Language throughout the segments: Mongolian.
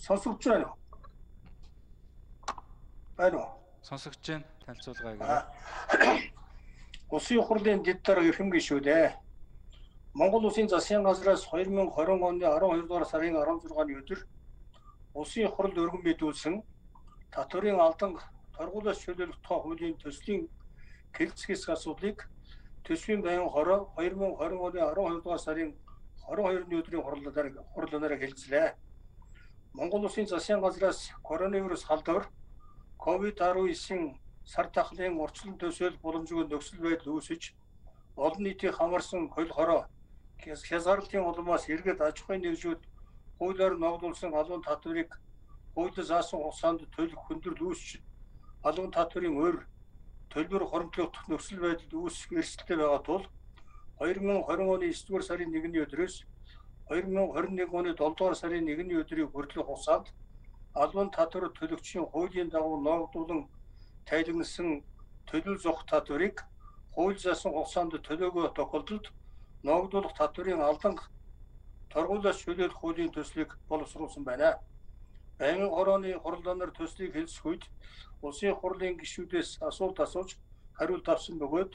Сонсогч байна уу? Байна уу? Сонсогч байна. Танилцуулгаа гэрээ. Улсын хурлын дэд дарга эрхэм гишүүдээ. Монгол Улсын засгийн газраас 2020 оны 12 дугаар сарын 16-ны өдөр Улсын хурал өргөн мэдүүлсэн татврын алдан торгуулиас чөлөөлөх тухай хуулийн төслийн хэлэлцгээс асуудлыг төсвийн байнгын хороо 2020 оны 12 дугаар сарын 22-ны өдрийн хурлаараа хэлэлцлээ. Монгол Улсын засгийн газраас коронавирус халдвар COVID-19 сар тахлын орчлон төсөөлөх боломжгүй нөхцөл байдал үүсэж олон нийтийг хамарсан хөл хороо хязгаарлалтын улмаас эргээд аж ахуйн нэгжүүд хуулиар ногдуулсан албан татврыг хуулиар заасан хугацаанд төлөх хүндрэл үүсч албан татврын өр төлбөр хоримтлох нөхцөл байдалд үүсэх эрсдэлтэй байгаа тул 2020 оны 9-р сарын 1-ний өдрөөс 2021 оны 7-р сарын 1-ний өдрийн хүртэлх хугацаанд албан татвар төлөгчийн хуулийн дагуу ногдуулан тайлбарласан төлөв зох татврыг хууль заасан хугацаанд төлөөгөө тохиолдолд ногдуулах татврын алдан торгуулиас чөлөөлөх хуулийн төслийг боловсруулсан байна. Байнгын хорооны хурлаанаар төслийг хэлцэх үед улсын хурлын гишүүдээс асуулт асууж хариулт авсан бөгөөд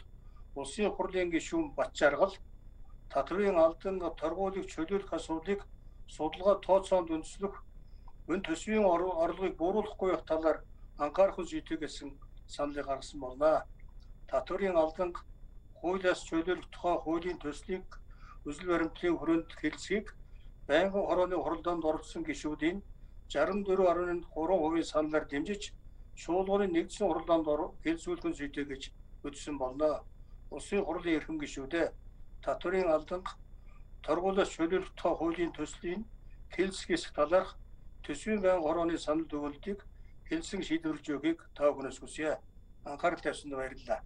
улсын хурлын гишүүн Батчаргал татврын алдан торгуулийг чөлөөлөх асуудлыг судалгаа тооцоонд үндэслэх өн төсвийн орлогыг бууруулахгүй байх талаар анхаарах зүйтэй гэсэн саналыг гаргасан болно. Татврын алдан хуулиас чөлөөлөх тухай хуулийн төслийг үзэл баримтлалын хүрээнд хэлэлцгийг байнгын хорооны хурлаанд оролцсон гишүүдийн 64.3% саналаар дэмжиж шуулганы нэгдсэн хурлаанд хэлэлцүүлэх зүйтэй гэж үзсэн болно. Улсын хурлын эрхэм гишүүдээ татврын алдан торгуулиас чөлөөлөх тухай хуулийн төслийн хэлэлцгээс талаарх төсвийн байнгын хорооны санал өгүүлэлтийг хэлсэн шийдвэрлэж өгөхийг та бүхнээс хүсье. Анхаарал тавьсанд баярлалаа.